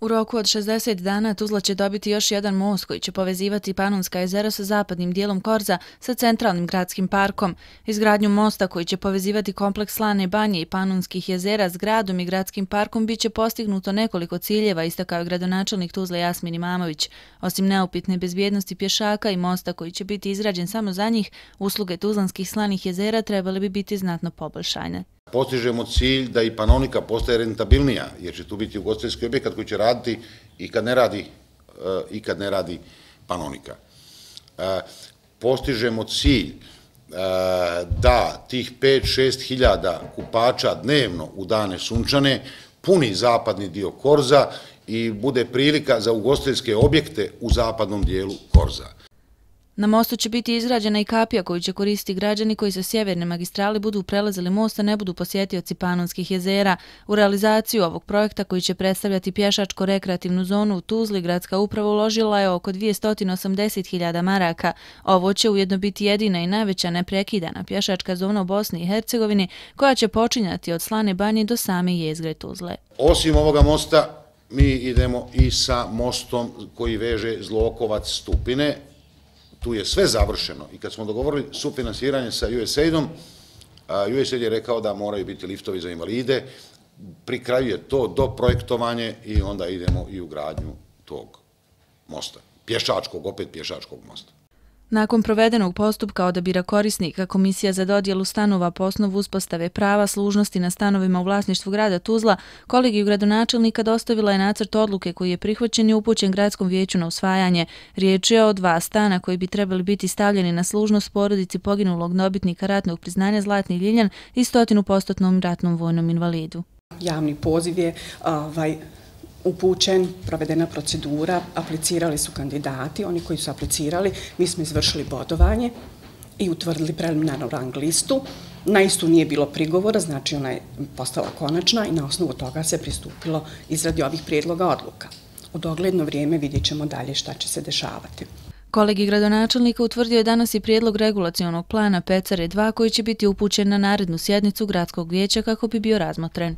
U roku od 60 dana Tuzla će dobiti još jedan most koji će povezivati Panonska jezera sa zapadnim dijelom Korza sa centralnim gradskim parkom. Izgradnju mosta koji će povezivati kompleks Slane banje i Panonskih jezera s gradom i gradskim parkom bit će postignuto nekoliko ciljeva, istakao je gradonačelnik Tuzle Jasmin Imamović. Osim neupitne bezbjednosti pješaka i mosta koji će biti izrađen samo za njih, usluge tuzlanskih slanih jezera trebale bi biti znatno poboljšane. Postižemo cilj da i Panonika postaje rentabilnija, jer će tu biti ugostiteljski objekat koji će raditi i kad ne radi Panonika. Postižemo cilj da tih 5-6 hiljada kupača dnevno u dane sunčane puni zapadni dio Korza i bude prilika za ugostiteljske objekte u zapadnom dijelu Korza. Na mostu će biti izgrađena i kapija koju će koristiti građani koji sa sjeverne magistrale budu prelazili most, a ne budu posjetioci Panonskih jezera. U realizaciju ovog projekta koji će predstavljati pješačko-rekreativnu zonu u Tuzli, gradska uprava uložila je oko 280.000 maraka. Ovo će ujedno biti jedina i najveća neprekidana pješačka zona u Bosni i Hercegovini koja će počinjati od Slane banje do same jezgre Tuzle. Osim ovoga mosta, mi idemo i sa mostom koji veže Zlokovac-Stupine. Tu je sve završeno i kad smo dogovorili sufinansiranje sa USAID-om, USAID je rekao da moraju biti liftovi za invalide, pri kraju je to doprojektovanje i onda idemo i u gradnju tog mosta, opet pješačkog mosta. Nakon provedenog postupka odabira korisnika, Komisija za dodjelu stanova po osnovu uspostave prava služnosti na stanovima u vlasništvu grada Tuzla, kolegiju gradonačelnika dostavila je nacrt odluke koji je prihvaćen i upućen gradskom vijeću na usvajanje. Riječ je o 2 stana koji bi trebali biti stavljeni na služnost porodici poginulog dobitnika ratnog priznanja Zlatni Ljiljan i 100% ratnom vojnom invalidu. Javni poziv je upućen, provedena procedura, aplicirali su kandidati, oni koji su aplicirali, mi smo izvršili bodovanje i utvrdili preliminarnu rang listu. Na istu nije bilo prigovora, znači ona je postala konačna i na osnovu toga se pristupilo izradi ovih prijedloga odluka. U dogledno vrijeme vidjet ćemo dalje šta će se dešavati. Kolegij gradonačelnika utvrdio je danas i prijedlog regulacionog plana Pecare 2 koji će biti upućen na narednu sjednicu gradskog vijeća kako bi bio razmotren.